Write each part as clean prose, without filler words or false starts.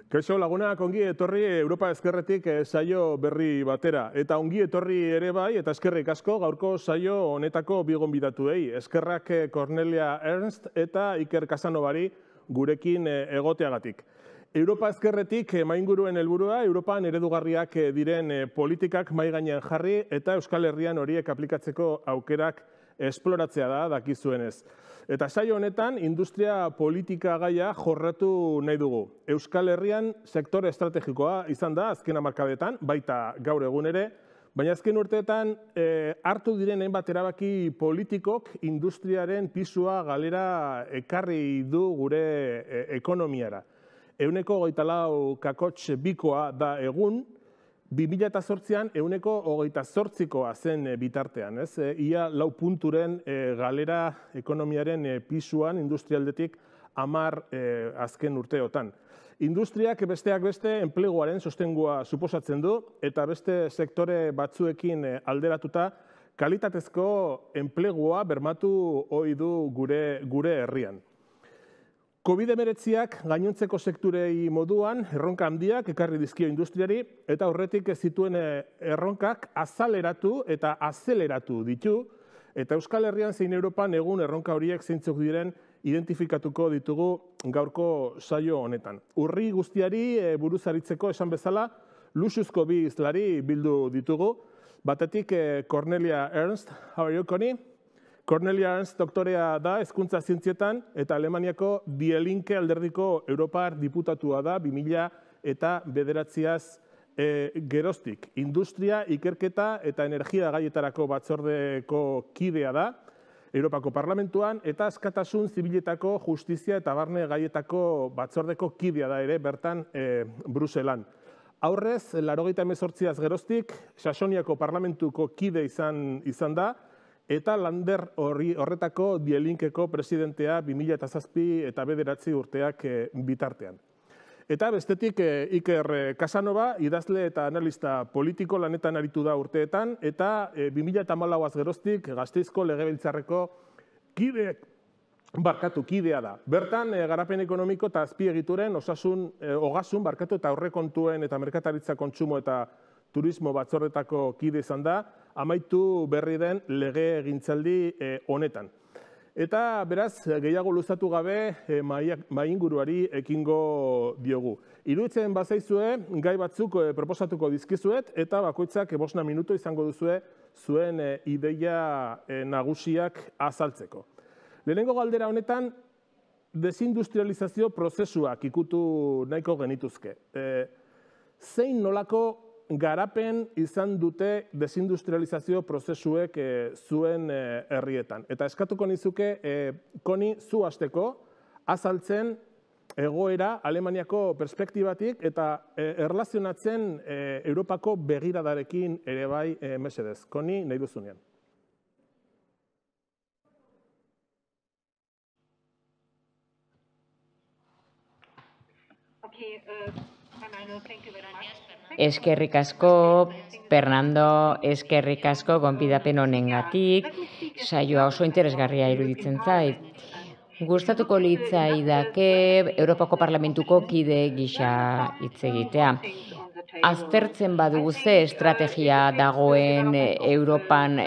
Kaixo lagunak, ongi etorri Europa Ezkerretik saio berri batera. Eta ongi etorri ere bai, eta eskerrik asko gaurko saio honetako bi gonbidatuei. Eskerrak Cornelia Ernst eta Iker Casanovari gurekin egoteagatik. Europa Ezkerretik mainguruen helburua, Europan eredugarriak diren politikak mahai gainean jarri eta Euskal Herrian horiek aplikatzeko aukerak esploratzea da dakizuenez. Eta saio honetan, industria politika gaia jorratu nahi dugu. Euskal Herrian sektore estrategikoa izan da azken hamarkadetan, baita gaur egun ere, baina azken urteetan hartu diren hainbat erabaki politikok industriaren pisua galera ekarri du gure ekonomiara. 24,2% da egun, 2008an 28%koa zen bitartean, ia 4 punturen galera ekonomiaren pisuan industrialdetik 10 azken urteotan. Industriak besteak beste enpleguaren sostengua suposatzen du eta beste sektore batzuekin alderatuta kalitatezko enplegua bermatu ohi du gure herrian. COVID-19ak gainontzeko sektorei moduan erronka handiak ekarri dizkio industriari eta horretik ez zituen erronkak azaleratu eta azeleratu ditu eta Euskal Herrian zein Europan egun erronka horiek zeintzuk diren identifikatuko ditugu gaurko saio honetan. Urri guztiari buruzaritzeko esan bezala luxuzko bi hizlari bildu ditugu. Batetik Cornelia Ernst, how are you, Connie? Cornelia Ernst doktorea da hezkuntza zientzietan eta Alemaniako Die Linke alderdiko Europar diputatua da 2009az geroztik. Industria, ikerketa eta energia gaietarako batzordeko kidea da Europako Parlamentuan eta askatasun zibiletako justizia eta barne gaietako batzordeko kidea da ere bertan Bruselan. Aurrez, 98az geroztik Saxoniako Parlamentuko kide izan da, eta Lander horretako Die Linkeko presidentea 2007 eta 2009 urteak bitartean. Eta bestetik Iker Casanova, idazle eta analista politiko lanetan aritu da urteetan, eta 2014az geroztik Gasteizko Legebiltzarreko kidea da. Bertan, garapen ekonomiko eta azpiegituren ogasun eta aurrekontuen eta merkataritza kontsumo eta turismo batzordetako kide izan da, amaitu berri den lege gintzaldi honetan. Eta beraz, gehiago luzatu gabe mainguruari ekingo diogu. Iruditzen bazaizue, gai batzuk proposatuko dizkizuet, eta bakoitzak 5 minutu izango duzue zuen ideia nagusiak azaltzeko. Lehenengo galdera honetan, desindustrializazio prozesuak ikutu nahiko genituzke. Zein nolako garapen izan dute desindustrializazio prozesuek zuen herrietan. Eta eskatuko nizuke, Koni, zu hasteko azaltzen egoera Alemaniako perspektibatik eta erlazionatzen Europako begiradarekin ere bai mesedez. Koni, nahi duzunean. Eskerrik asko, Fernando, eskerrik asko gonbidapen honengatik, saioa oso interesgarria iruditzen zait. Gustatuko litzaidake Europako Parlamentuko kide gisa hitz egitea. Aztertzen badugu ze estrategia dagoen Europan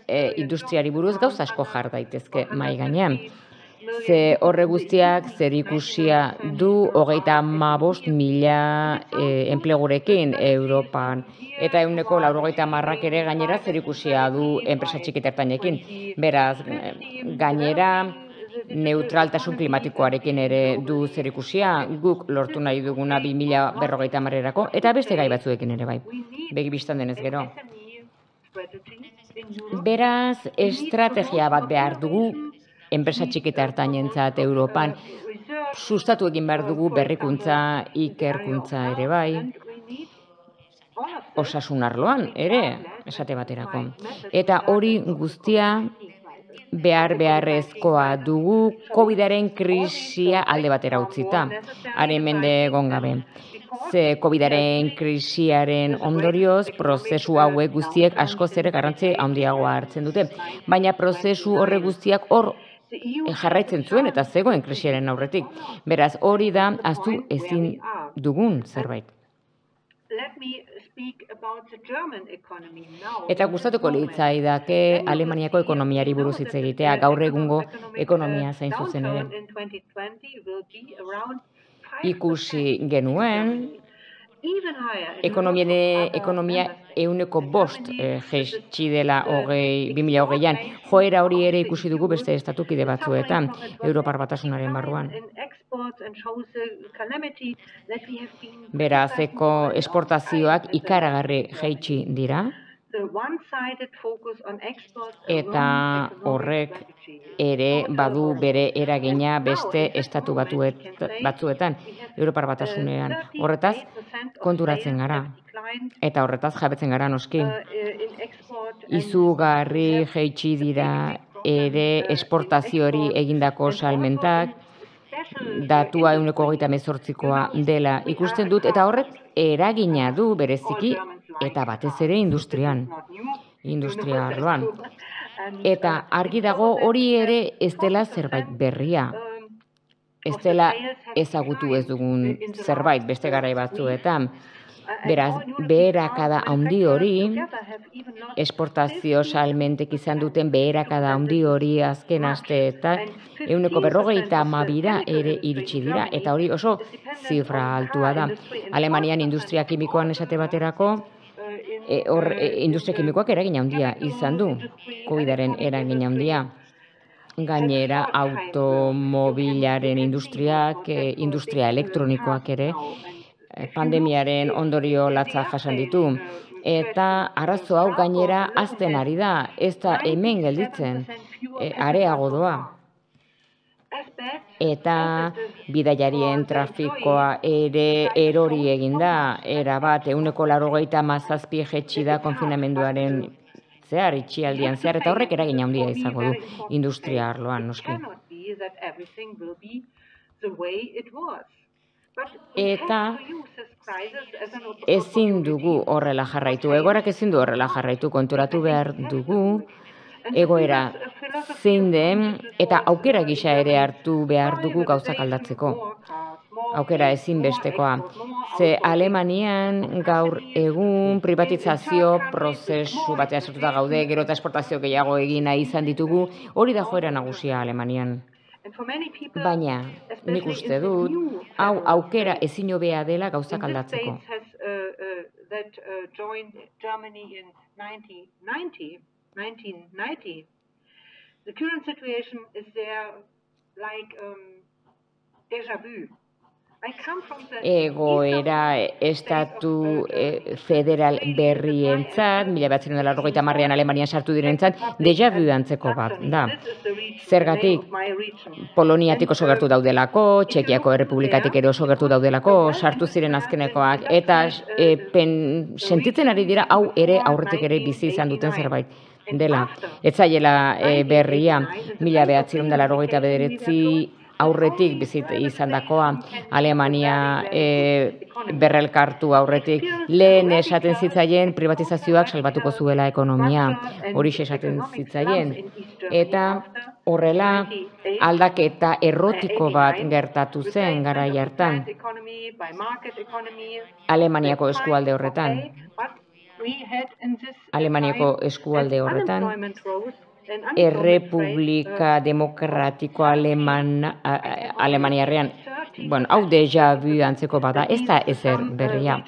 industriari buruz gauza asko jar daitezke mahai gainean. Ze horre guztiak zer ikusia du 35.000 enplegurekin Europan. Eta 90% ere gainera zer ikusia du enpresa txiki eta ertainekin. Beraz, gainera neutraltasun klimatikoarekin ere du zer ikusia, guk lortu nahi duguna 2050erako, eta beste gai batzuekin ere bai, begi bistan denez gero. Beraz, estrategia bat behar dugu, enpresa txiki eta ertainentzat Europan, sustatu egin behar dugu berrikuntza, ikerkuntza ere bai, osasun arloan ere, esate baterako. Eta hori guztia beharrezkoa dugu COVID-aren krisia alde batera utzita, haren mende egon gabe. Ze COVID-aren krisiaren ondorioz, prozesu hauek guztiek askoz ere garrantzi handiagoa hartzen dute. Baina prozesu horre guztiak hor jarraitzen zuen eta zegoen krisiaren aurretik. Beraz, hori da ahaztu ezin dugun zerbait. Eta gustatuko litzaidake Alemaniako ekonomiari buruz hitz egitea, gaur egungo ekonomia zein zuzen ere. Ikusi genuen, ekonomia 5% jaitsi dela 2020an. Joera hori ere ikusi dugu beste estatukide batzuetan, Europar Batasunaren barruan. Beraz, esportazioak ikaragarri jaitsi dira, eta horrek ere badu bere eragina beste estatu batzuetan, Europar Batasunean. Horretaz, konturatzen gara, eta horretaz jabetzen gara noski. Izugarri jaitsi dira ere esportazioari egindako salmentak, datua 128koa dela ikusten dut, eta horrek eragina du bereziki, eta batez ere industria arloan. Eta argi dago hori ere ez dela zerbait berria. Ez dela ezagutu ez dugun zerbait beste garai batzuetan. Beraz, beherakada handi hori, esportazio salmentek izan duten beherakada handi hori azken asteetan 152ra ere iritsi dira, eta hori oso zifra altua da. Alemanian industria kimikoan esate baterako, industria kimikoak eragin handia izan du, COVID-aren eragin handia. Gainera, automobilaren industriak, industria elektronikoak ere, pandemiaren ondorio latza jasan ditu. Eta arazo hau gainera hazten ari da, ez da hemen gelditzen, areago doa. Eta bidaiarien trafikoa ere erori egin da, erabat 187 jaitsi da konfinamenduaren zehar, itxialdian zehar, eta horrek eragin handia izango du industria arloan, noski. Eta ezin dugu horrela jarraitu, egoerak ezin du horrela jarraitu, konturatu behar dugu, egoera zein den, eta aukera gisa ere hartu behar dugu gauzak aldatzeko. Aukera ezinbestekoa. Ze Alemanian gaur egun privatizazio prozesu batean sartuta gaude, gero eta esportazio gehiago egin nahi izan ditugu, hori da joera nagusia Alemanian. Baina, nik uste dut, hau aukera ezin hobea dela gauzak aldatzeko. Egoera estatu federal berrientzat, 1980an Alemanian sartu direntzat, deja vu antzeko bat da. Zergatik, Poloniatik oso gertu daudelako, Txekiako Errepublikatik ere oso gertu daudelako, sartu ziren azkenekoak, eta sentitzen ari dira hau ere aurretik ere bizi izan duten zerbait dela. Ez zaiela berria, 1989 aurretik bizit izandakoa, Alemania berrelkartu aurretik, lehen esaten zitzaien privatizazioak salbatuko zuela ekonomia, hori esaten zitzaien, eta horrela aldaketa errotiko bat gertatu zen garai hartan, Alemaniako eskualde horretan. Alemaniako eskualde horretan, Errepublika Demokratiko Alemaniarrean, hau deja vu antzeko bada, ez da ezer berria.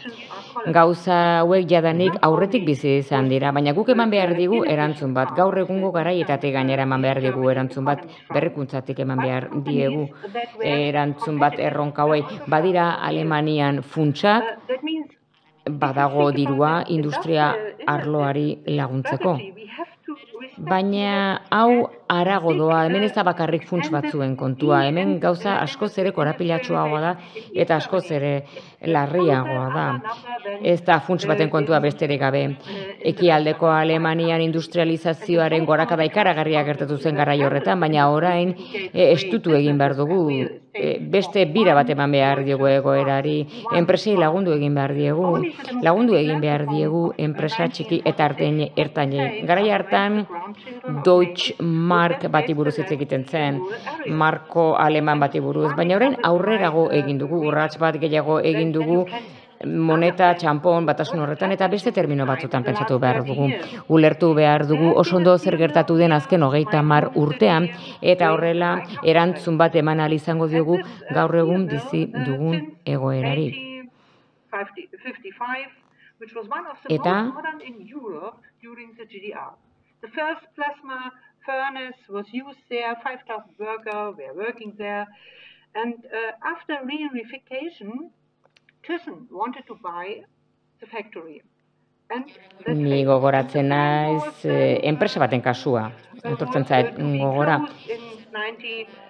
Gauza hauek jadanik aurretik bizi izan dira, baina guk eman behar digu erantzun bat. Gaur egungo garaietatik gainera eman behar digu erantzun bat, berrikuntzatik eman behar diegu erantzun bat erronka hauei. Badira Alemanian funtsak, badago dirua industria arloari laguntzeko. Baina hau harago doa, hemen ez da bakarrik funts batzuen kontua, hemen gauza askoz ere korapilatsuagoa da eta askoz ere larriagoa da. Ez da funts baten kontua besterik gabe. Ekialdeko Alemanian industrializazioaren gorakada ikaragarria gertatu zen garai horretan, baina orain estutu egin behar dugu, beste bira bat eman behar diegu egoerari, enpresei lagundu egin behar diegu enpresa txiki eta ertainei. Garai hartan Deutsche mark bati buruz hitz egiten zen, marko aleman bati buruz, baina orain aurrerago egin dugu, urrats bat gehiago egin dugu, moneta, txampon, batasun horretan, eta beste termino batzutan pentsatu behar dugu. Ulertu behar dugu oso ondo zer gertatu den azken 30 urtean, eta horrela erantzun bat eman ahal izango diogu gaur egun bizi dugun egoerari. Eta The first plasma furnace was used there, 5,000 workers were working there. And after reunification, Thyssen wanted to buy the factory. Ni gogoratzen naiz enpresa baten kasua, etortzen zait gogora.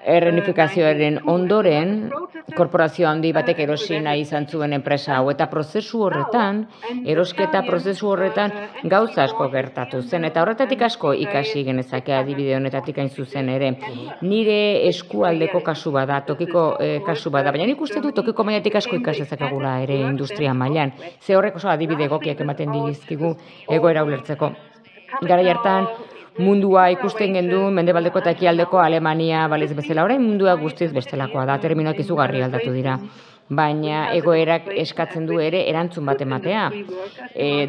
Erreunifikazioaren ondoren, korporazio handi batek erosi nahi izan zuen enpresa hau, eta prozesu horretan, erosketa prozesu horretan gauza asko gertatu zen, eta horretatik asko ikasi genezake adibide honetatik hain zuzen ere. Nire eskualdeko kasu bada, tokiko kasu bada, baina nik uste du tokiko mailatik asko ikas dezakegula ere industria mailan. Ze horrek oso adibide egokiak ematen dizkigu egoera ulertzeko. Garai hartan, mundua ikusten genduen, mendebaldeko eta ekialdeko Alemania baliz bezala, orain mundua guztiz bestelakoa da, terminoak izugarri aldatu dira. Baina egoerak eskatzen du ere erantzun bat ematea.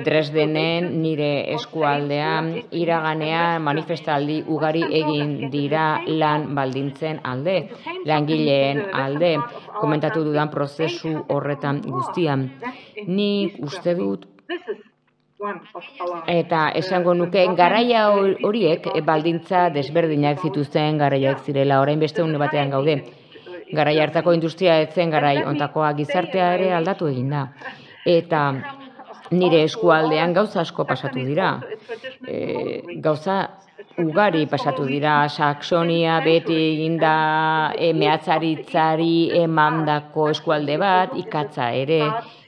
Dresdenen, nire eskualdean, iraganean manifestaldi ugari egin dira lan baldintzen alde, langileen alde, komentatu dudan prozesu horretan guztian. Nik uste dut, eta esango nuke, garaia horiek baldintza desberdinak zituzten garaiak zirela, orain beste une batean gaude. Garai hartako industria etzen garai ontakoa, gizartea ere aldatu egin da. Eta nire eskualdean gauza asko pasatu dira. Gauza ugari pasatu dira, Saxonia beti eginda mehatzaritzari emandako eskualde bat, ikatza ere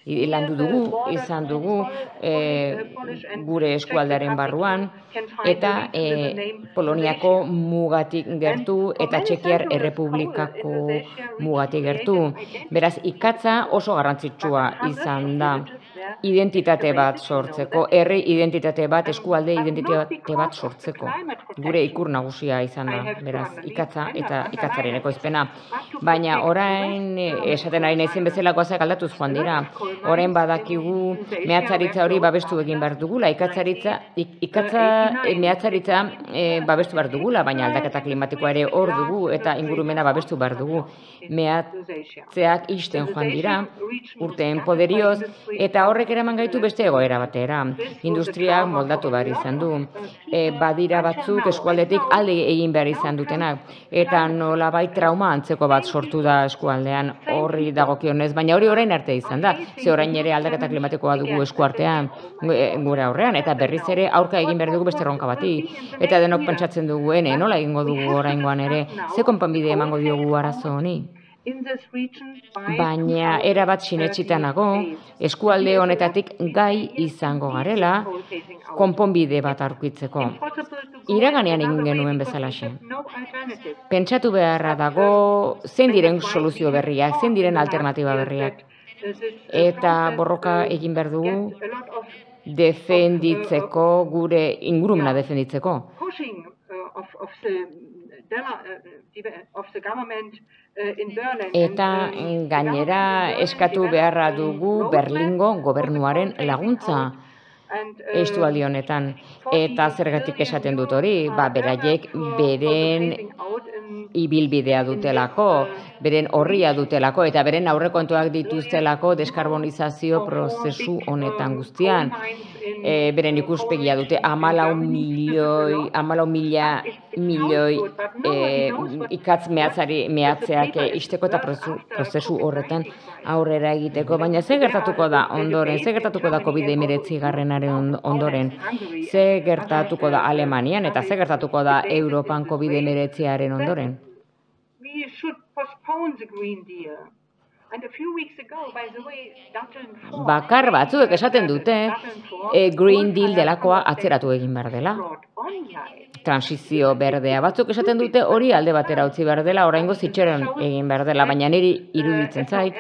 landu dugu, izan dugu gure eskualdearen barruan, eta Poloniako mugatik gertu eta Txekiar Errepublikako mugatik gertu. Beraz, ikatza oso garrantzitsua izan da. Identitate bat sortzeko, herri identitate bat, eskualde identitate bat sortzeko. Gure ikur nagusia izan da, beraz, ikatza eta ikatzaren ekoizpena. Baina orain, esaten ari naizen bezalako azak aldatuz joan dira. Orain badakigu mehatzaritza hori babestu egin behar dugula, mehatzaritza babestu behar dugula, baina aldaketa klimatikoa ere hor dugu eta ingurumena babestu behar dugu. Mehatzeak isten joan dira, urteen poderioz, eta horrek eraman gaitu beste egoera batera. Industriak moldatu behar izan du. Badira batzuk eskualdetik alde egin behar izan dutenak. Eta nolabait trauma antzeko bat sortu da eskualdean horri dagokionez, baina hori orain arte izan da. Ze orain ere aldaketa klimatikoa dugu eskuartean gure aurrean, eta berriz ere aurka egin behar dugu beste erronka bati. Eta denok pentsatzen dugu, nola egingo dugu oraingoan ere, ze konponbide emango diogu arazo honi? Baina erabat sinetsita nago, eskualde honetatik gai izango garela, konponbide bat aurkitzeko. Iraganean egin genuen bezalaxe. Pentsatu beharra dago zein diren soluzio berriak, zein diren alternatiba berriak. Eta borroka egin behar dugu defenditzeko, gure ingurumena defenditzeko. Eta gainera eskatu beharra dugu Berlingo gobernuaren laguntza estualdi honetan. Eta zergatik esaten dut hori, beraiek beren ibilbidea dutelako, beren horria dutelako, eta beren aurrekontuak dituztelako deskarbonizazio prozesu honetan guztian. Beren ikuspegia dute 14 milioi ikatz mehatzeak isteko eta prozesu horretan aurrera egiteko. Baina ze gertatuko da ondoren, ze gertatuko da COVID-19 ondoren, ze gertatuko da Alemanian eta ze gertatuko da Europan COVID-19 ondoren? Bakar batzuek esaten dute Green Deal delakoa atzeratu egin behar dela. transizio berdea. Batzuk esaten dute hori alde batera utzi behar dela, oraingoz itxaron egin behar dela, baina niri iruditzen zait,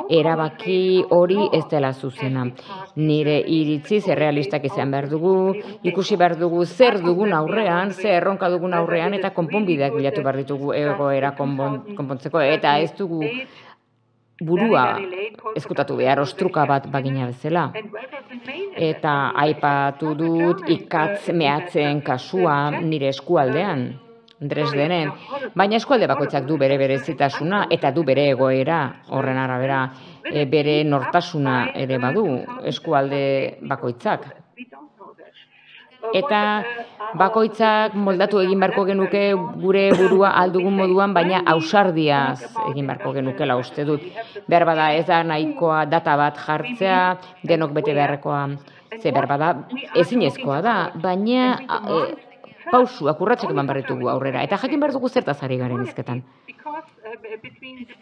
erabaki hori ez dela zuzena. Nire iritziz errealistak izan behar dugu, ikusi behar dugu zer dugun aurrean, zer erronka dugun aurrean, eta konponbideak bilatu behar ditugu egoera konpontzeko, eta ez dugu burua ezkutatu behar ostruka bat bagina bezala. Eta aipatu dut ikatz mehatzen kasua nire eskualdean, Dresdenen, baina eskualde bakoitzak du bere berezitasuna eta du bere egoera horren arabera, bere nortasuna ere badu eskualde bakoitzak. Eta bakoitzak moldatu egin beharko genuke gure burua aldugun moduan, baina ausardiaz egin beharko genukela uste dut. Behar bada ez da nahikoa data bat jartzea, denok bete beharrekoa, ze behar bada ezinezkoa da, baina pausuak urratsak eman behar ditugu aurrera, eta jakin behar dugu zertaz ari garen hizketan.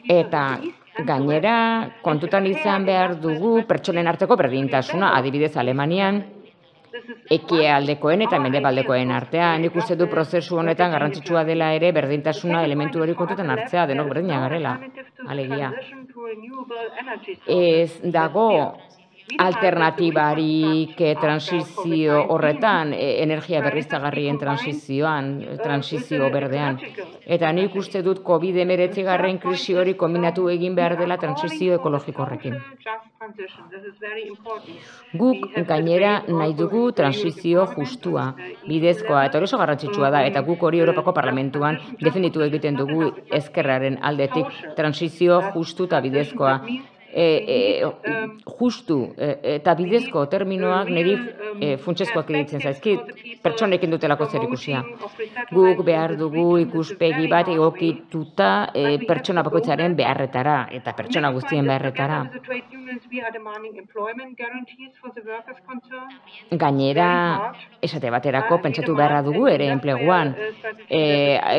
Eta gainera kontutan izan behar dugu pertsonen arteko berdintasuna, adibidez Alemanian, ekialdekoen eta mendebaldekoen artean. Nik uste du prozesu honetan garrantzitsua dela ere berdintasuna elementu hori kontutan hartzea, denok berdina garela, alegia. Ez dago alternatibarik transizio horretan, energia berriztagarrien transizio berdean. Eta nik uste dut COVID-19 krisi hori kombinatu egin behar dela transizio ekologiko horrekin. Guk gainera nahi dugu transizio justua, bidezkoa, eta hori oso garrantzitsua da, eta guk hori Europako Parlamentuan definitu egiten dugu ezkerraren aldetik, transizio justu eta bidezkoa. Justu eta bidezko terminoak niri funtsezkoak iruditzen zaizkit, pertsonekin dutelako zer ikusia. Guk behar dugu ikuspegi bat egokituta pertsona bakoitzaren beharretara eta pertsona guztien beharretara. Gainera, esate baterako pentsatu beharra dugu ere enpleguan,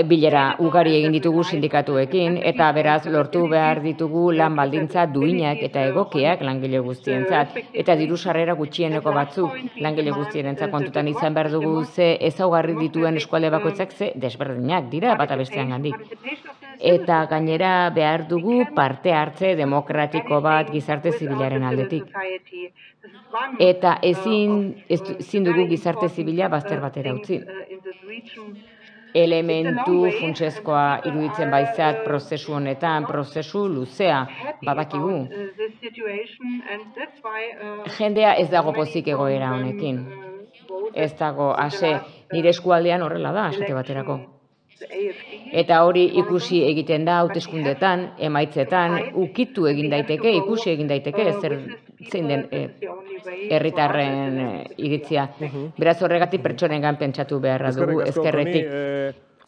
bilera ugari egin ditugu sindikatuekin, eta beraz lortu behar ditugu lan baldintza duinak eta egokiak langile guztientzat, eta diru sarrera gutxieneko batzuk langile guztienentzat kontutan izan behar dugu ze ezaugarri dituen eskualde bakoitzak ze desberdinak dira bata bestean gandik. Eta gainera behar dugu parte hartze demokratiko bat gizarte zibilaren aldetik. Eta ezin dugu gizarte zibila bazter batera utzi. Elementu funtsezkoa iruditzen baitzat prozesu honetan, prozesu luzea, badakigu. Jendea ez dago pozik egoera honekin. Ez dago, nire eskualdean horrela da, esate baterako. Eta hori ikusi egiten da hauteskundetan, emaitzetan, ukitu egin daiteke, ikusi egin daiteke, zein den herritarren iritzia. Beraz horregatik pertsonengan pentsatu beharra dugu ezkerretik.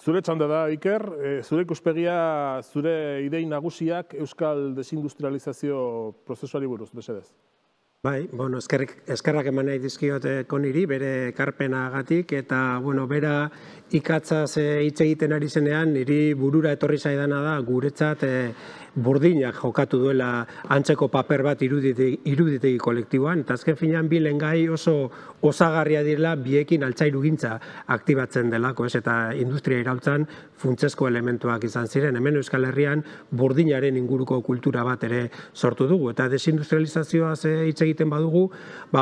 Zure txanda da, Iker, zure ikuspegia, zure idei nagusiak euskal desindustrializazio prozesuari buruz, mesedez. Bai, eskerrak eman nahi dizkiot Koniri, bere ekarpenagatik, eta, bera ikatzaz hitz egiten ari zenean, niri burura etorri zaidana da, guretzat burdinak jokatu duela antzeko paper bat iruditegi kolektiboan, eta azken finean bi lengai oso osagarria direla biekin altzairugintza aktibatzen delako, eta industria iraultzan funtsezko elementuak izan ziren. Hemen Euskal Herrian burdinaren inguruko kultura bat ere sortu dugu, eta desindustrializazioaz hitz egiten badugu,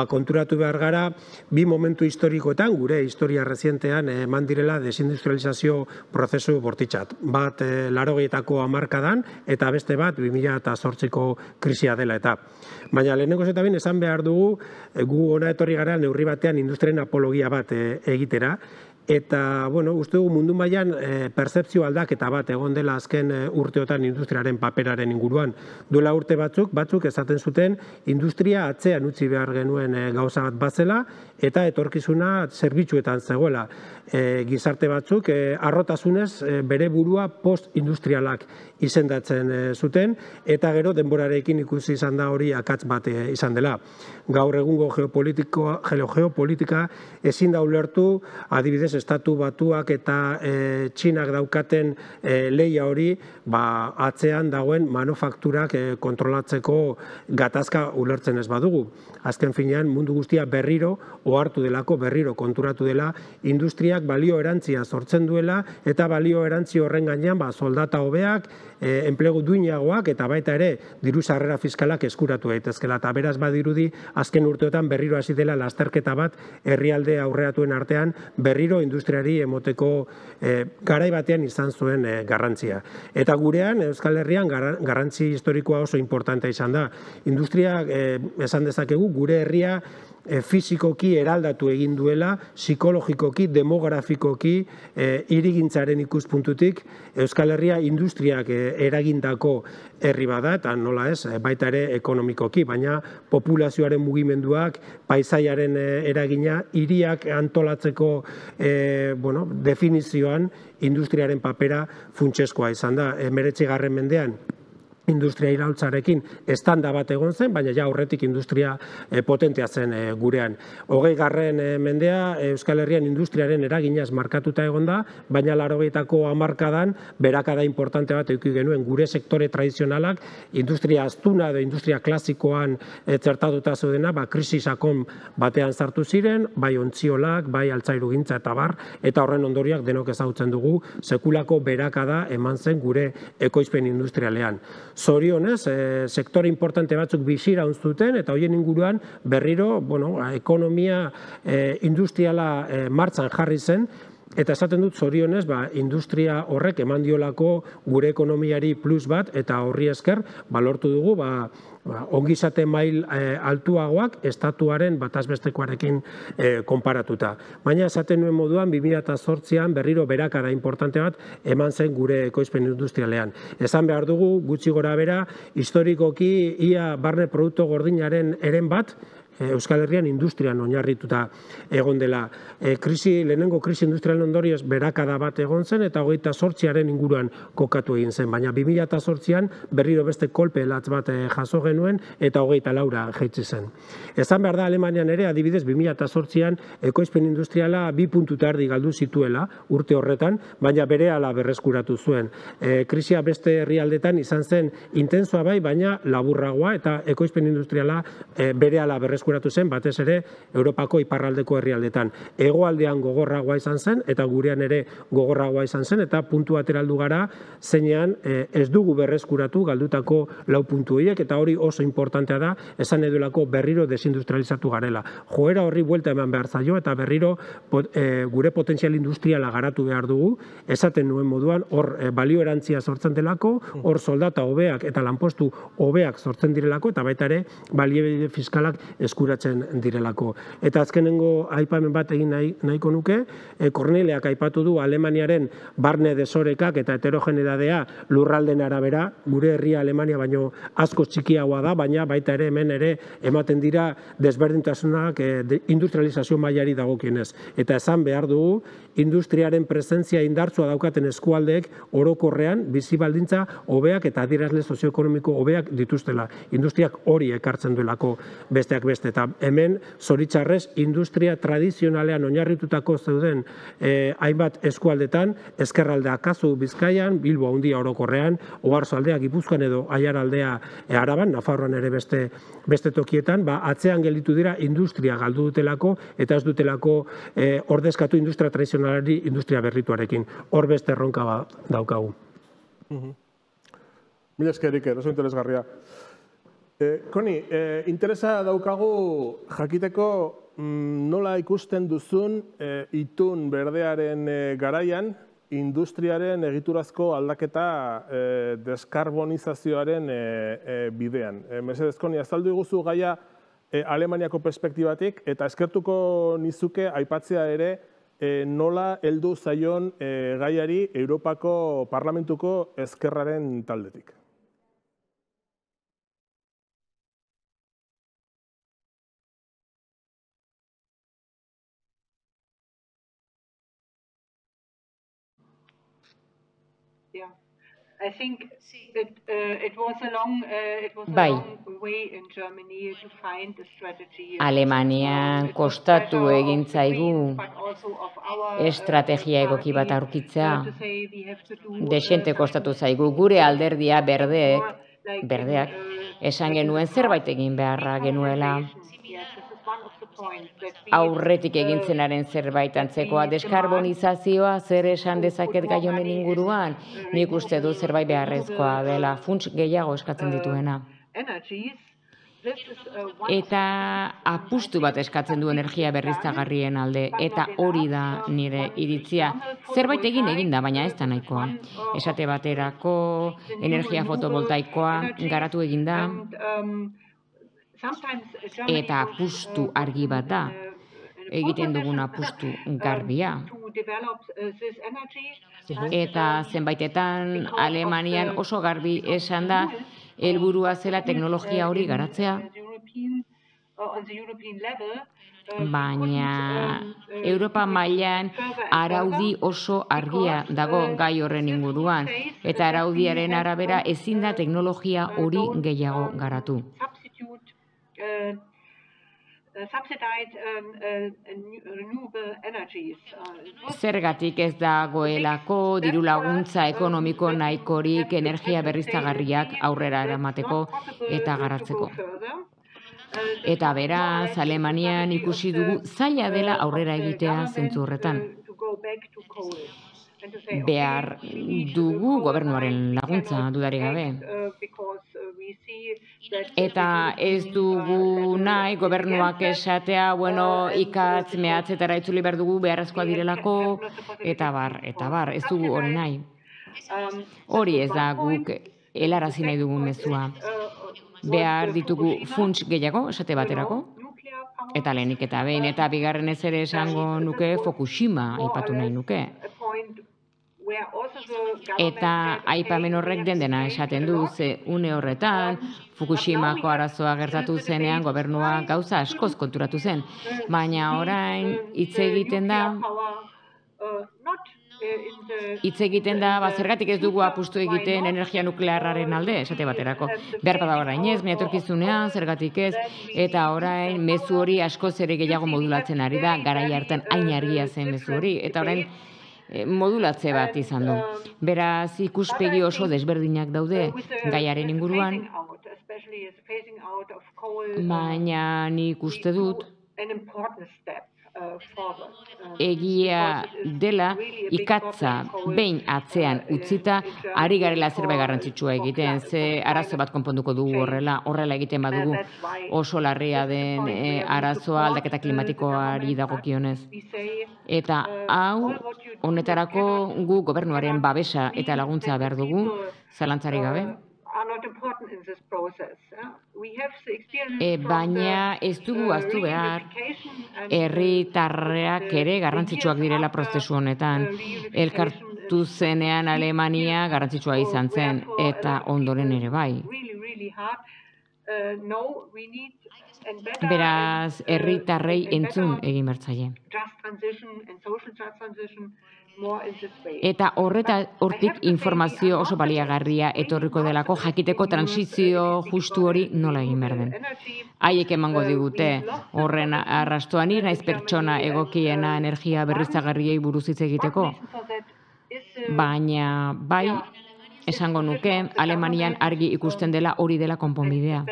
konturatu behar gara, bi momentu historikoetan, gure historia rezientean eman direla desindustrializazio prozesu bortitxat. Bat 80etako hamarkadan, eta beste bat 2008ko krisia dela eta. Baina lehenengoz eta behin esan behar dugu, gu hona etorri gara neurri batean industriaren apologia bat egitera, eta, uste dugu mundu mailan pertzepzio aldaketa bat egon dela azken urteotan industriaren paperaren inguruan. Duela urte batzuk esaten zuten industria atzean utzi behar genuen gauza bat bazela, eta etorkizuna zerbitzuetan zegoela. Gizarte batzuk harrotasunez bere burua post-industrialak izendatzen zuten, eta gero denborarekin ikusi izan da hori akats bat izan dela. Gaur egungo geopolitika ezin da ulertu, adibidez, Estatu Batuak eta Txinak daukaten lehia hori atzean dagoen manufakturak kontrolatzeko gatazka ulertzen ez badugu. Azken finean mundu guztia berriro ohartu delako, berriro konturatu dela, industriak balio erantzia sortzen duela eta balio erantzi horren gainean soldata hobeak, enplegu duinagoak eta baita ere diru sarrera fiskalak eskuratu daitezkeela. Eta beraz badirudi azken urteotan berriro hasi dela lasterketa bat herrialde aurreratuen artean berriro industriari emoteko garai batean izan zuen garrantzia. Eta gurean Euskal Herrian garrantzi historikoa oso importantea izan da. Industria esan dezakegu gure herria fisikoki eraldatu egin duela, psikologikoki, demografikoki, hirigintzaren ikuspuntutik Euskal Herria industriak eragindako herri bada, eta nola ez, baita ere ekonomikoki, baina populazioaren mugimenduak, paisaiaren eragina, hiriak antolatzeko definizioan industriaren papera funtsezkoa izan da. 19. mendean industria iraultzarekin estanda bat egon zen, baina ja aurretik industria potentea zen gurean. 20. mendea Euskal Herrian industriaren eraginaz markatuta egon da, baina 80ko hamarkadan berakada importante bat eduki genuen gure sektore tradizionalak, industria astuna edo industria klasikoan txertatuta zeudena, krisi sakon batean sartu ziren, bai ontziolak, bai altzairugintza eta bar, eta horren ondorioak denok ezagutzen dugu, sekulako berakada eman zen gure ekoizpen industrialean. Zorionez, sektore importante batzuk biziraun zuten, eta horien inguruan berriro ekonomia industriala martxan jarri zen, eta esaten dut zorionez, industria horrek eman diolako gure ekonomiari plus bat, eta horri esker lortu dugu ongizate mail altuagoak estatuaren batazbestekoarekin konparatuta. Baina esaten nuen moduan 2008an berriro berakada importante bat eman zen gure ekoizpen industrialean. Esan behar dugu gutxi gora bera historikoki ia barne produktu gordinaren eren bat Euskal Herrian industrian oinarrituta egon dela. Lehenengo krisi industrialen ondorioz berakada bat egon zen eta 28aren inguruan kokatu egin zen. Baina 2008an berriro beste kolpe latz bat jaso genuen eta 24 jaitsi zen. Esan behar da Alemanian ere adibidez 2008an ekoizpen industriala 2 puntu eta erdi galdu zituela urte horretan, baina berehala berreskuratu zuen. Krisia beste herrialdetan izan zen intensoa bai, baina laburragoa eta ekoizpen industriala berehala berreskuratu zen, batez ere Europako iparraldeko herrialdetan. Hegoaldean gogorragoa izan zen, eta gurean ere gogorragoa izan zen, eta puntu ateraldu gara, zeinean ez dugu berreskuratu galdutako 4 puntu horiek, eta hori oso importantea da, esan edulako berriro desindustrializatu garela. Joera horri buelta eman behar zaio, eta berriro gure potentzial industriala garatu behar dugu, esaten nuen moduan, hor balio erantzia sortzen delako, hor soldata hobeak eta lanpostu hobeak sortzen direlako, eta baita ere baliabide fiskalak eskuratzen direlako. Eta azkenengo aipamen bat egin nahiko nuke, Korneleak aipatu du Alemaniaren barne desorekak eta heterogenidadea lurralden arabera, gure herria Alemania baino asko txikiagoa da, baina baita ere hemen ere ematen dira desberdintasunak industrializazio mailari dagokienez. Eta esan behar dugu, industriaren presentzia indartsua daukaten eskualdeek orokorrean bizi baldintza hobeak eta adierazle sozioekonomiko hobeak dituztela. Industriak hori ekartzen duelako besteak beste. Eta hemen, zoritxarrez, industria tradizionalean oinarritutako zeuden hainbat eskualdetan, ezkerraldea kasu Bizkaian, Bilbo handia orokorrean, Oarsoaldea Gipuzkoan edo Aiaraldea Araban, Nafarroan ere beste tokietan, atzean gelditu dira industria galdu dutelako eta ez dutelako ordezkatu industria tradizionalari industria berrituarekin. Hor beste erronka daukagu. Mila eskerik, oso interesgarria. Koni, interesa daukagu jakiteko nola ikusten duzun itun berdearen garaian industriaren egiturazko aldaketa deskarbonizazioaren bidean. Mesedez, Koni, azaldu iguzu gaia Alemaniako perspektibatik eta eskertuko nizuke aipatzea ere nola heldu zaion gaiari Europako Parlamentuko ezkerraren taldetik. I think it was a long way in Germany to find a strategy. Alemanian kostatu egin zaigu estrategia egoki bat aurkitzea. Desente kostatu zaigu gure alderdia berdeak esan genuen zerbait egin beharra genuela. Aurretik egintzenaren zerbait antzekoa, deskarbonizazioa zer esan dezaket gai honen inguruan, nik uste du zerbait beharrezkoa dela, funts gehiago eskatzen dituena. Eta apustu bat eskatzen du energia berriztagarrien alde, eta hori da nire iritzia. Zerbait egin da, baina ez da nahikoa. Esate baterako energia fotovoltaikoa garatu egin da, eta apustu argi bat da, egiten dugun apustu garbia. Eta zenbaitetan Alemanian oso garbi esan da, helburua zela teknologia hori garatzea, baina Europa mailan araudi oso argia dago gai horren inguruan, eta araudiaren arabera ezin da teknologia hori gehiago garatu. Zergatik ez dagoelako diru laguntza ekonomiko nahikorik energia berriztagarriak aurrera eramateko eta garatzeko. Eta beraz, Alemanian ikusi dugu zaila dela aurrera egitea zentzu horretan. Behar dugu gobernuaren laguntza, dudarik gabe. Eta ez dugu nahi gobernuak esatea, ikatz mehatzetara itzuli behar dugu beharrezkoa direlako, eta bar, ez dugu hori nahi. Hori ez da guk helarazi nahi dugun mezua. Behar ditugu funts gehiago, esate baterako, eta lehenik eta behin, eta bigarrenez ere esango nuke Fukushima aipatu nahi nuke. Eta aipamen horrek dena esaten du, ze une horretan Fukushimako arazoa gertatu zenean gobernua gauza askoz konturatu zen, baina orain hitz egiten da, zergatik ez dugu apustu egiten energia nuklearraren alde, esate baterako. Behar bada orain ez, etorkizunean, zergatik ez, eta orain mezu hori askoz ere gehiago modulatzen ari da, garai hartan hain argia zen mezu hori, eta orain modulatze bat izan du. Beraz, ikuspegi oso desberdinak daude gaiaren inguruan, baina nik uste dut egia dela ikatza behin atzean utzita ari garela zerbait garrantzitsua egiten, ze arazo bat konponduko dugu horrela egiten badugu oso larria den arazoa aldaketa klimatikoari dagokionez. Eta hau honetarako gu gobernuaren babesa eta laguntza behar dugu, zalantzarik gabe. Baina ez dugu ahaztu behar, herritarrak ere garrantzitsuak direla prozesu honetan. Elkartu zenean Alemania garrantzitsua izan zen, eta ondoren ere bai. Beraz, herritarrei entzun egin bertzaile. Eta hortik informazio oso baliagarria etorriko delako jakiteko transizio justu hori nola egin behar den. Haiek emango digute horren arrastoan naiz pertsona egokiena energia berriztagarriei buruz hitz egiteko. Baina bai, esango nuke, Alemanian argi ikusten dela hori dela konponbidea.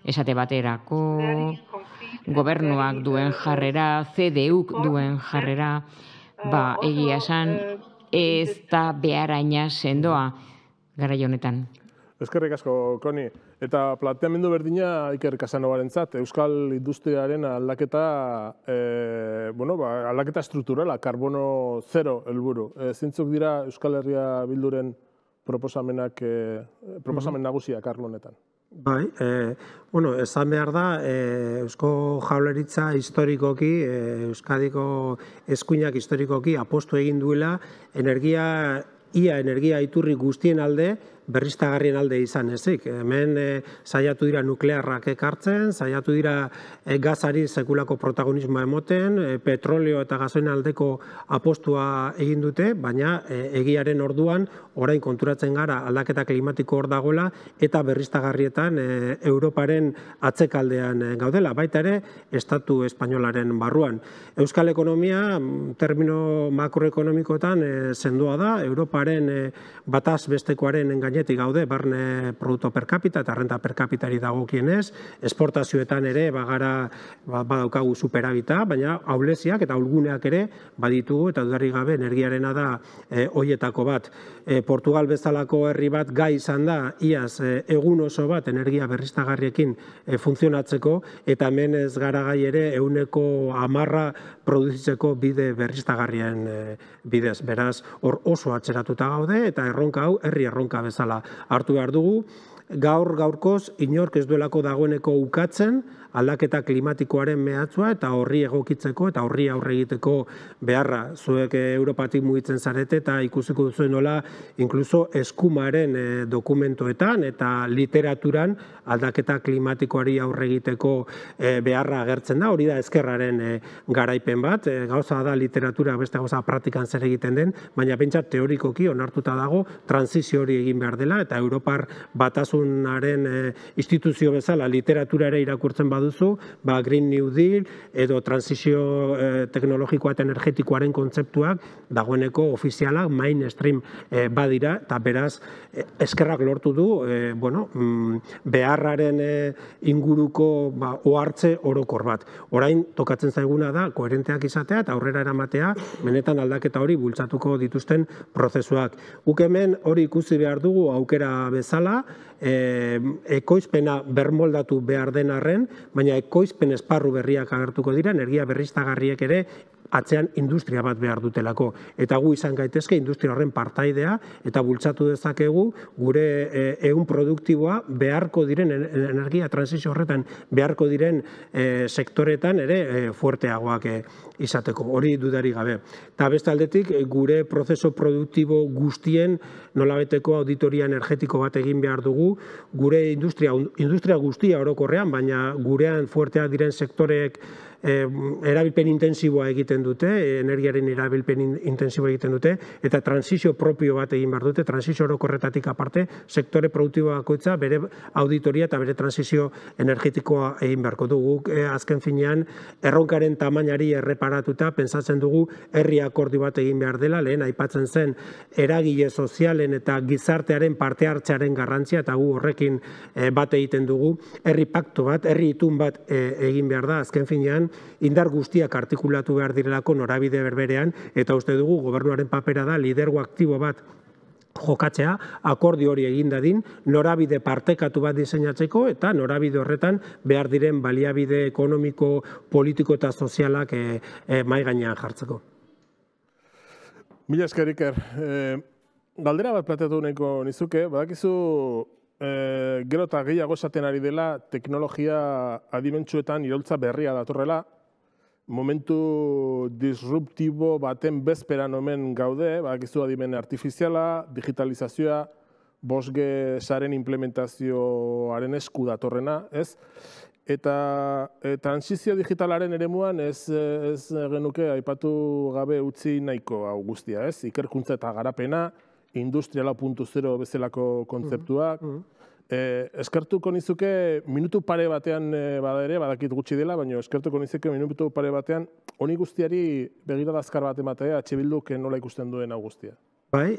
Esate baterako, gobernuak duen jarrera, CDUk duen jarrera, egia esan, ez da beharaina sendoa garai honetan. Eskerrik asko, Koni. Eta planteamendu berdina Iker Casanovarentzat, euskal industriaren aldaketa, aldaketa strukturala, karbono zero helburu. Zeintzuk dira Euskal Herria Bilduren proposamen nagusiak arlo honetan? Bai, esan behar da, Eusko Jaurlaritza historikoki, Euskadiko eskuinak historikoki apostu egin duela energia iturri guztien alde berriztagarrien alde izan ezik. Hemen saiatu dira nuklearrak ekartzen, saiatu dira gazari sekulako protagonismoa emoten, petrolio eta gasoen aldeko apostua egin dute, baina egiaren orduan orain konturatzen gara aldaketa klimatiko hor dagoela eta berriztagarrietan Europaren atzekaldean gaudela, baita ere Estatu espainolaren barruan. Euskal ekonomia, termino makroekonomikotan sendoa da, Europaren bataz bestekoaren gainetik gaude, barne produktu per capita eta renta per capitari dagokienez, esportazioetan ere badaukagu superabita, baina ahuleziak eta ahulguneak ere baditugu eta dudarik gabe energiarena da hoietako bat. Portugal bezalako herri bat gai izan da, iaz egun oso bat energia berriztagarriekin funtzionatzeko, eta hemen ez gara gai ere 10% produzitzeko bide berriztagarrien bidez. Beraz, hor oso atzeratuta gaude eta erronka hau herri erronka bezala hartu behar dugu. Gaurkoz inork ez duelako dagoeneko ukatzen aldaketa klimatikoaren mehatzua eta horri egokitzeko eta horri aurre egiteko beharra. Zuek Europatik mugitzen zarete eta ikusiko duzuen nola inkluso eskumaren dokumentoetan eta literaturan aldaketa klimatikoari aurre egiteko beharra agertzen da. Hori da ezkerraren garaipen bat. Gauza da literatura beste gauza praktikan zer egiten den, baina pentsat teorikoki onartuta dago transizio hori egin behar dela eta Europar batasunaren instituzio bezala literatura ere irakurtzen baduzu, Green New Deal edo transizio teknologikoa eta energetikoaren kontzeptuak dagoeneko ofizialak mainstream badira, eta beraz eskerrak lortu du beharraren inguruko ohartze orokor bat. Orain tokatzen zaiguna da koherenteak izatea eta aurrera eramatea benetan aldaketa hori bultzatuko dituzten prozesuak. Guk hemen hori ikusi behar dugu aukera bezala, ekoizpena bermoldatu behar den arren, baina ekoizpen esparru berriak agertuko dira, energia berriztagarriek ere atzean industria bat behar dutelako. Eta gu izan gaitezke industria horren partaidea eta bultzatu dezakegu gure ehun produktiboa beharko diren energia transizio horretan beharko diren sektoretan ere fuerteagoak izateko. Hori dudarik gabe. Eta beste aldetik gure prozeso produktibo guztien nolabeteko auditoria energetiko bat egin behar dugu, gure industria guztia orokorrean, baina gurean fuerteak diren sektoreek erabilpen intensiboa egiten dute, energiaren erabilpen intensiboa egiten dute, eta transizio propio bat egin behar dute, transizio orokorretatik aparte, sektore produktibo bakoitza bere auditoria eta bere transizio energetikoa egin beharko dugu. Azken finean, erronkaren tamainari erreparatuta, pentsatzen dugu herri akordio bat egin behar dela, lehen aipatzen zen eragile sozialen eta gizartearen parte hartzearen garrantzia, eta gu horrekin bat egiten dugu, herri pakto bat, herri itun bat egin behar da, azken finean, indar guztiak artikulatu behar direlako norabide berberean, eta uste dugu gobernuaren papera da lidergo aktibo bat jokatzea, akordio hori egin dadin, norabide partekatu bat diseinatzeko eta norabide horretan behar diren baliabide ekonomiko, politiko eta sozialak mahai gainean jartzeko. Mila esker, Iker. Galdera bat planteatu nahiko nizuke, badakizu gero eta gehiago esaten ari dela teknologia adimentsuetan iraultza berria datorrela, momentu disruptibo baten bezperan omen gaude, badakizu adimen artifiziala, digitalizazioa, 5G saren implementazioaren esku datorrena, ez? Eta transizio digitalaren eremuan ez genuke aipatu gabe utzi nahiko hau guztia, ez? Ikerkuntza eta garapena, industriala 4.0 bezalako kontzeptuak. Eskertuko nizuke minutu pare batean bada ere, badakit gutxi dela, baina eskertuko nizuke minutu pare batean honi guztiari begirada azkar bat ematea, Bilduk nola ikusten duen hau guztia. Bai,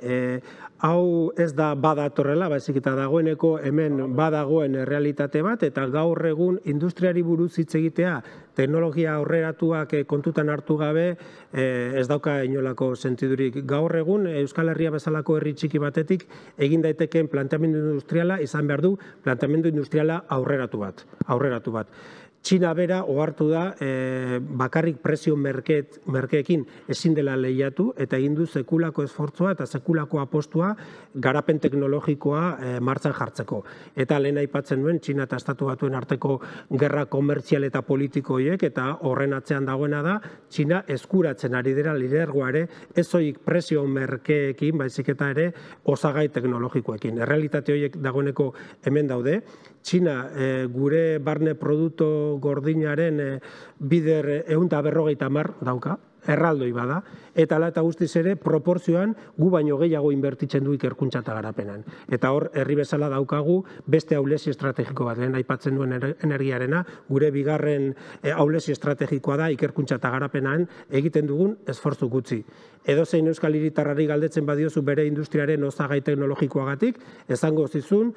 hau ez da badatorrela, baizik eta dagoeneko hemen badagoen realitate bat, eta gaur egun industriari buruz hitz egitea, teknologia aurreratuak kontutan hartu gabe, ez dauka inolako sentidurik. Gaur egun Euskal Herria bezalako herri txiki batetik egin daitekeen planteamendu industriala izan behar du planteamendu industriala aurreratu bat. Txina bera ohartu da bakarrik prezio merkeekin ezin dela lehiatu eta egin du sekulako esfortzua eta sekulako apostua garapen teknologikoa martxan jartzeko. Eta lehen aipatzen duen Txina eta Estatu Batuen arteko gerra komertzial eta politiko horiek eta horren atzean dagoena da Txina eskuratzen ari dira lidergoa ere ez soilik prezio merkeekin, baizik eta ere osagai teknologikoekin. Errealitate horiek dagoeneko hemen daude. Txina gure barne produktu gordinaren bider 150 dauka, erraldoi bada, eta hala eta guztiz ere proporzioan gu baino gehiago inbertitzen du ikerkuntza eta garapenan. Eta hor, herri bezala daukagu beste ahulezi estrategiko bat, lehen aipatzen duen energiarena, gure bigarren ahulezi estrategikoa da ikerkuntza eta garapenan egiten dugun esfortzu gutxi. Edozein euskal hiritarrari galdetzen badiozu bere industriaren osagai teknologikoagatik, esango zizun,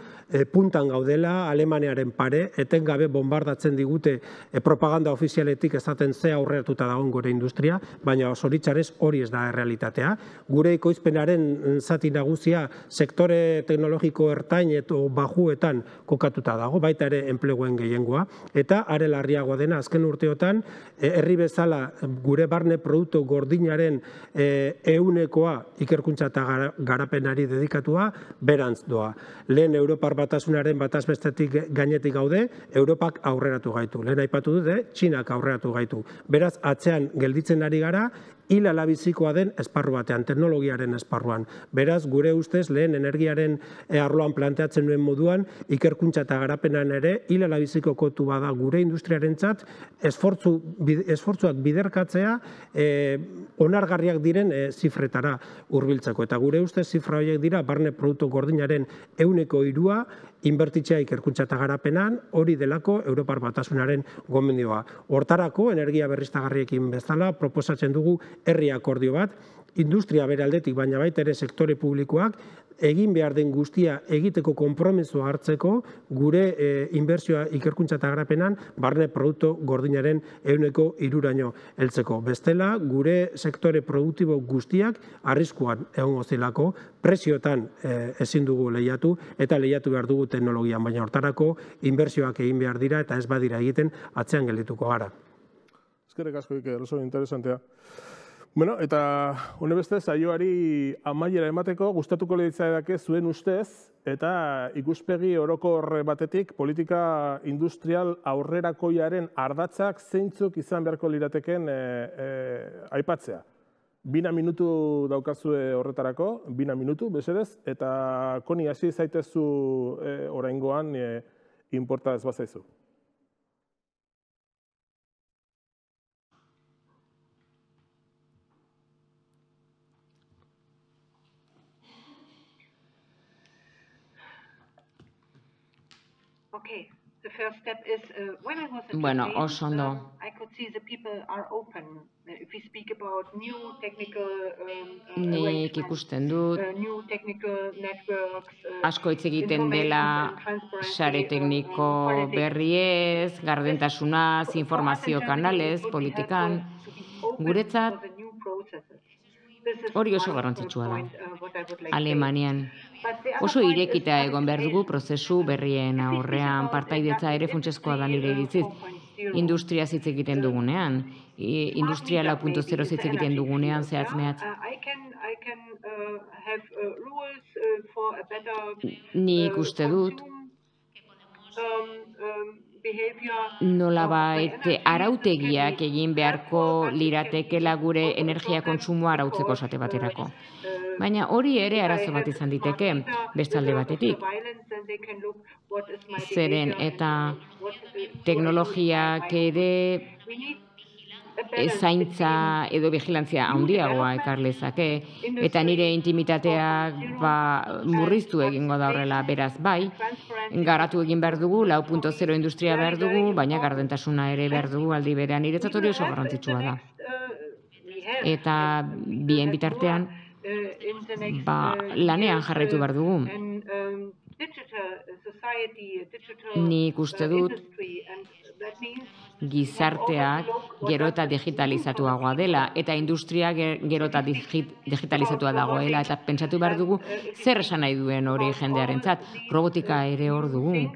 puntan gaudela, Alemaniaren pare, etengabe bombardatzen digute propaganda ofizialetik esaten ze aurreratuta dagoen gure industria, baina zoritxarrez hori ez da errealitatea. Gure ekoizpenaren zati nagusia sektore teknologiko ertain eta bajuetan kokatuta dago, baita ere enpleguen gehiengoa, eta are larriagoa dena azken urteotan, herri bezala gure barne produktu gordinaren ehunekoa ikerkuntza eta garapenari dedikatua berantz doa. Lehen Europar Batasunaren bataz bestetik gainetik gaude, Europak aurreratu gaitu. Lehen aipatu dute, Txinak aurreratu gaitu. Beraz, atzean gelditzen ari gara, hil alabizikoa den esparru batean, teknologiaren esparruan. Beraz, gure ustez, lehen energiaren arloan planteatzen duen moduan, ikerkuntza eta garapenan ere, hil alabiziko kontu bada gure industriarentzat, esfortzuak biderkatzea onargarriak diren zifretara hurbiltzeko. Eta gure ustez, zifra horiek dira, barne produktu gordinaren 3% inbertitzea ikerkuntza eta garapenan, hori delako Europar Batasunaren gomendioa. Hortarako, energia berriztagarriekin bezala, proposatzen dugu herri akordio bat, industria bere aldetik, baina baita ere sektore publikoak, egin behar den guztia egiteko konpromisoa hartzeko gure inbertsioa ikerkuntza eta garapenan barne produktu gordinaren 3% heltzeko. Bestela, gure sektore produktibo guztiak arriskuan egongo zelako, prezioetan ezin dugu lehiatu eta lehiatu behar dugu teknologian, baina hortarako inbertsioak egin behar dira eta ez badira egiten atzean geldituko gara. Eskerrik asko, Iker, oso interesantea. Bueno, eta hone beste, saioari amaiera emateko, gustatuko litzaidake zuen ustez, eta ikuspegi orokor batetik politika industrial aurrerakoiaren ardatzak zeintzuk izan beharko lirateken aipatzea. 2 minutu daukazue horretarako, 2 minutu, besedez, eta Koni hasi zaitezu oraingoan inporta ez bazaizu. Okay, the first step is when I was at Bueno, Japan, oso ondo. I could see the people are open. If we speak about new technical Nik arrangements, ikusten dut, new technical networks, asko hitz egiten dela sare tekniko berriez, gardentasunaz, informazio kanalez, politikan. Guretzat, hori oso garrantzitsua da. Alemanian oso irekita egon behar dugu prozesu berrien aurrean, partaidetza ere funtsezkoa da nire iritziz. Industria hitz egiten dugunean, industria 4.0 hitz egiten dugunean zehatz mehatz. Nik uste dut, nolabait arautegiak egin beharko liratekela gure energia kontsumoa arautzeko esate baterako. Baina hori ere arazo bat izan diteke, bestalde batetik. Zeren eta teknologiak ere zaintza edo vigilantzia handiagoa ekar lezake, eta nire intimitateak murriztu egingo da horrela, beraz bai, garatu egin behar dugu, 4.0 industria behar dugu, baina gardentasuna ere behar dugu aldi berean, niretzat hori oso garrantzitsua da. Eta bien bitartean, lanean jarraitu behar dugu. Nik uste dut, gizarteak gero eta digitalizatuagoa dela, eta industria gero eta digitalizatua dagoela, eta pentsatu behar dugu zer esan nahi duen hori jendearentzat. Robotika ere hor dugu.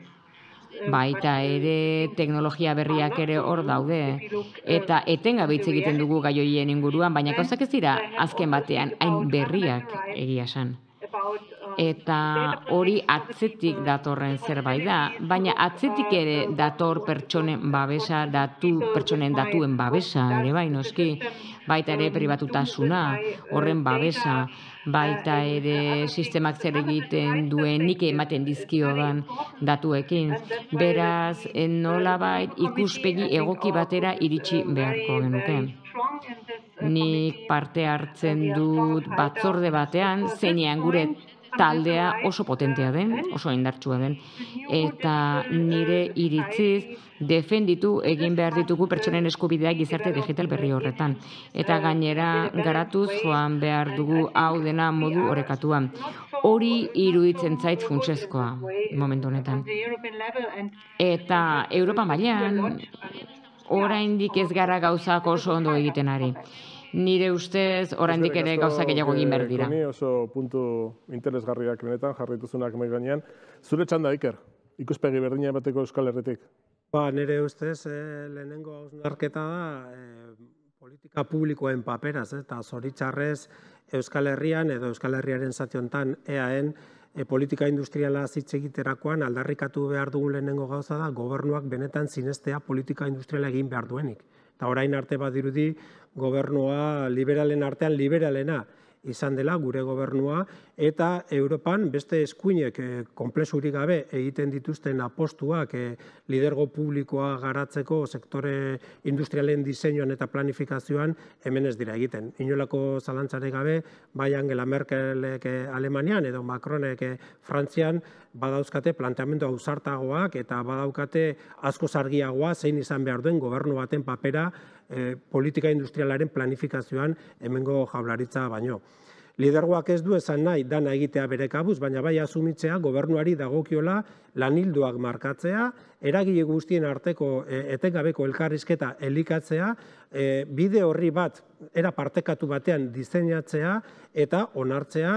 baita ere teknologia berriak ere hor daude, eta etengabe hitz egiten dugu gai horien inguruan, baina gauzak ez dira azken batean hain berriak egia esan. Eta hori atzetik datorren zerbait da, baina atzetik ere dator pertsonen babesa, pertsonen datuen babesa ere bai noski, baita ere pribatutasuna, horren babesa, baita ere sistemak zer egiten duen nik ematen dizkiodan datuekin. Beraz, nolabait ikuspegi egoki batera iritsi beharko genuke. Nik parte hartzen dut batzorde batean, zeinean gure taldea oso potentea den, oso indartsua den, eta nire iritziz defenditu egin behar ditugu pertsonen eskubideak gizarte digital berri horretan. Eta gainera garatuz joan behar dugu hau dena modu orekatuan. Hori iruditzen zait funtsezkoa momentu honetan. Eta Europa mailan oraindik ez gara gauzak oso ondo egiten ari. Nire ustez, oraindik ere gauzak gehiago egin behar dira. Koni oso puntu interesgarriak benetan jarrituzunak mai gainean. Zure txanda, Iker, ikuspegi berdina emateko Euskal Herritik? Nire ustez, lehenengo hausnarketa da politika publikoen paperaz, eta zoritxarrez Euskal Herrian edo Euskal Herriaren zati honetan EAen politika industriala hitz egiterakoan aldarrikatu behar dugun lehenengo gauza da gobernuak benetan sinestea politika industriala egin behar duenik. Eta orain arte badirudi gobernua liberalen artean liberalena izan dela gure gobernua, eta Europan beste eskuinek konplexurik gabe egiten dituzten apostuak lidergo publikoa garatzeko sektore industrialen diseinuan eta planifikazioan hemen ez dira egiten. Inolako zalantzarek gabe, bai Angela Merkelek Alemanian edo Macronek Frantzian badauzkate planteamendu ausartagoak eta badaukate asko argiagoa zein izan behar duen gobernu baten papera politika industrialaren planifikazioan hemengo jaurlaritza baino. Lidergoak ez du esan nahi dana egitea bere kabuz, baina bai asumitzea gobernuari dagokiola lanildoak markatzea, eragile guztien arteko etengabeko elkarrizketa elikatzea, bide horri bat era partekatu batean diseinatzea eta onartzea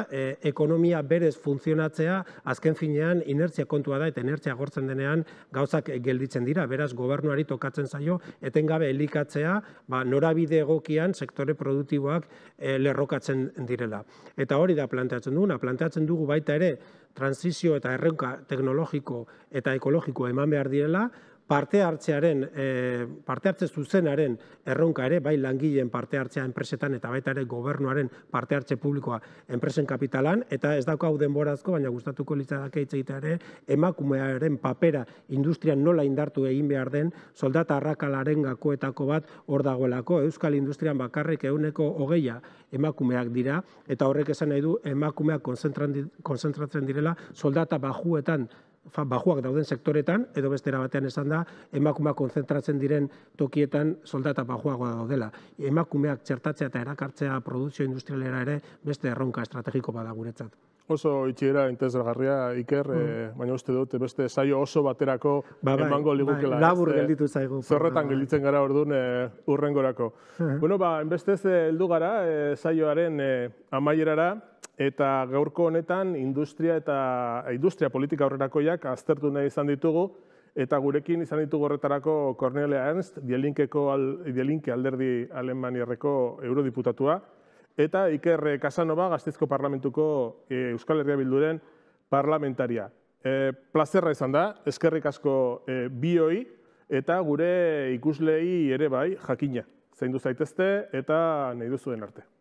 ekonomia berez funtzionatzea, azken finean inertzia kontua da eta inertzia agortzen denean gauzak gelditzen dira. Beraz, gobernuari tokatzen zaio etengabe elikatzea norabide egokian sektore produktiboak lerrokatzen direla. Eta hori da planteatzen duguna, planteatzen dugu baita ere transizio eta erronka teknologiko eta ekologiko eman behar direla, parte hartze zuzenaren erronka ere, bai langileen parte hartzea enpresetan eta baita ere gobernuaren parte hartze publikoa enpresen kapitalan, eta ez daukagu denborazko, baina gustatuko litzateke hitz egitea ere, emakumearen papera industrian nola indartu egin behar den, soldata arrakalaren gakoetako bat hor dagoelako. Euskal industrian bakarrik 20% emakumeak dira, eta horrek esan nahi du emakumeak konzentratzen direla soldata bajuak dauden sektoretan, edo bestera batean esan da, emakumeak konzentratzen diren tokietan soldata bajuagoa daudela. Emakumeak txertatzea eta erakartzea produkzio industrialera ere beste erronka estrategiko bada guretzat. Oso itxiera interesgarria, Iker, baina uste dut beste saio oso baterako emango ligukela. Labur gelditu zaigu. Zorretan gelditzen gara orduan urrengorako. Bueno, enbestez heldu gara saioaren amaierara, eta gaurko honetan industria politika horrerakoiak aztertu nahi izan ditugu, eta gurekin izan ditugu horretarako Cornelia Ernst, Die alderdi Alemaniarreko eurodiputatua, eta Iker Casanova, Gasteizko Parlamentuko Euskal Herria Bilduren parlamentaria. Plazerra izan da, eskerrik asko bioi, eta gure ikuslei ere bai jakina. Zaindu zaitezte eta nahi duzuen arte.